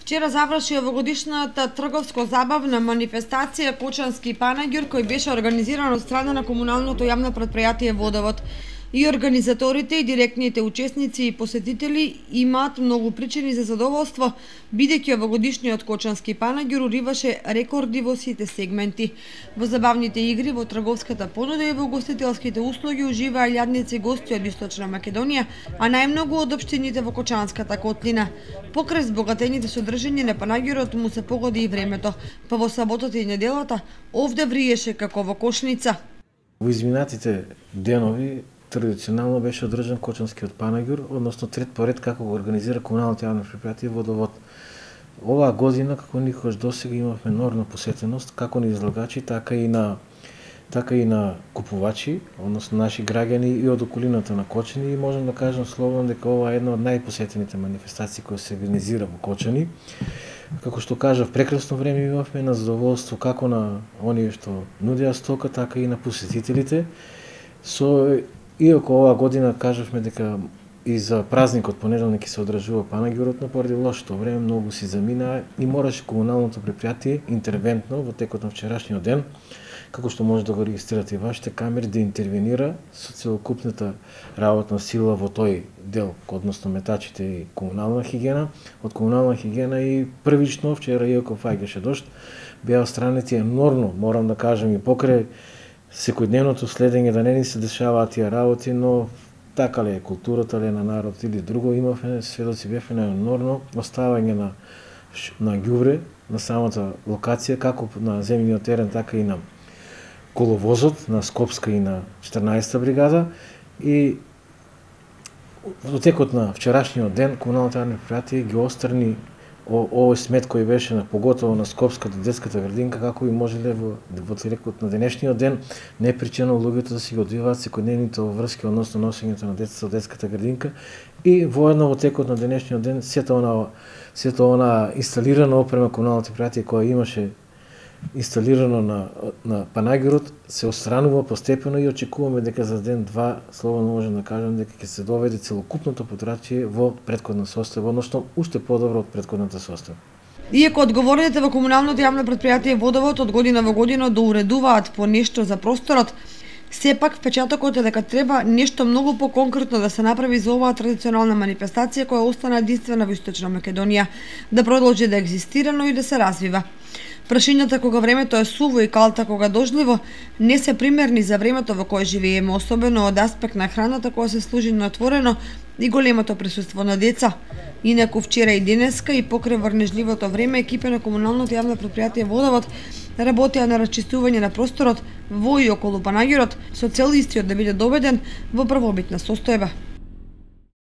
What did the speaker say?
Вчера заврши овогодишната трговско-забавна манифестација Кочански панаѓур, кој беше организиран од страна на комуналното јавно претпријатие Водовод. И организаторите и директните учесници и посетители имаат многу причини за задоволство, бидејќи овогодишниот Кочански панаѓур уриваше рекорди во сите сегменти. Во забавните игри, во трговската понуда и во гостителските услуги уживаа илјадници гости од Источна Македонија, а најмногу од општините во Кочанската котлина. Покрај збогатените содржини на панаѓурот му се погоди и времето, па во саботата и неделата овде вриеше како во кошница. Во изминатите денови традиционално беше одржан Кочанскиот панаѓур, односно трет поред како го организира комуналното јавно претпријатие Водовод. Оваа година, како никогаш досега, имавме нормална посетеност, како на излагачи, така и на купувачи, односно наши граѓани и од околината на Кочани, и можам да кажам слободно дека ова е една од најпосетените манифестации кои се организира во Кочани. Како што кажав, прекрасно време имавме на задоволство како на оние што нудеа стока, така и на посетителите. Иако оваа година кажавме дека и за празникот понеделник се одржува панаѓурот, но поради лошото време многу си заминаа и мораше комуналното претпријатие интервентно во текот на вчерашниот ден, како што може да го регистрирате и вашите камери, да интервенира со целокупната работна сила во тој дел, односно метачите и комунална хигиена. Од комунална хигиена и првично вчера, иако фаќаше дожд, беа странети енормно, морам да кажам, и покрај секојдневното следење да не ни се дешаваат тие работи, но така ли е културата ли е на народ или друго, имавме сведоци бевме на енормно оставање на ѓубре на самата локација, како на земјиниот терен, така и на коловозот на Скопска и на 14-та бригада. И во текот на вчерашниот ден комуналното јавно претпријатие ги отстрани овој смет кој беше поготово на Скопската детската градинка, како и можеле во текот на денешниот ден непричинно луѓето да си го одвиваат секојдневните врски, односно носењето на децата од детската градинка, и воедно во текот на денешниот ден сето она инсталирана опрема комуналното претпријатие која имаше инсталирано на панаѓурот се отстранува постепено и очекуваме дека за ден-два слободно можем да кажем дека ќе се доведе целокупното подрачје во претходна состојба, односно уште подобро од претходната состојба. Иако одговорните во комуналното јавно претпријатие Водовод од година во година доуредуваат по нешто за просторот, сепак впечатокот е дека треба нешто многу поконкретно да се направи за оваа традиционална манифестација која остана единствена во Источна Македонија, да продолжи да екзистира, но и да се развива. Прашањата кога времето е суво и калта кога дождливо не се примерни за времето во кое живееме, особено од аспект на храната која се служи на отворено и големото присуство на деца. Инаку вчера и денеска и покрај врнежливото време екипи на комуналното јавно претпријатие Водовод работеа на расчистување на просторот во и околу панаѓурот со цел истиот да биде доведен во првобитна состојба.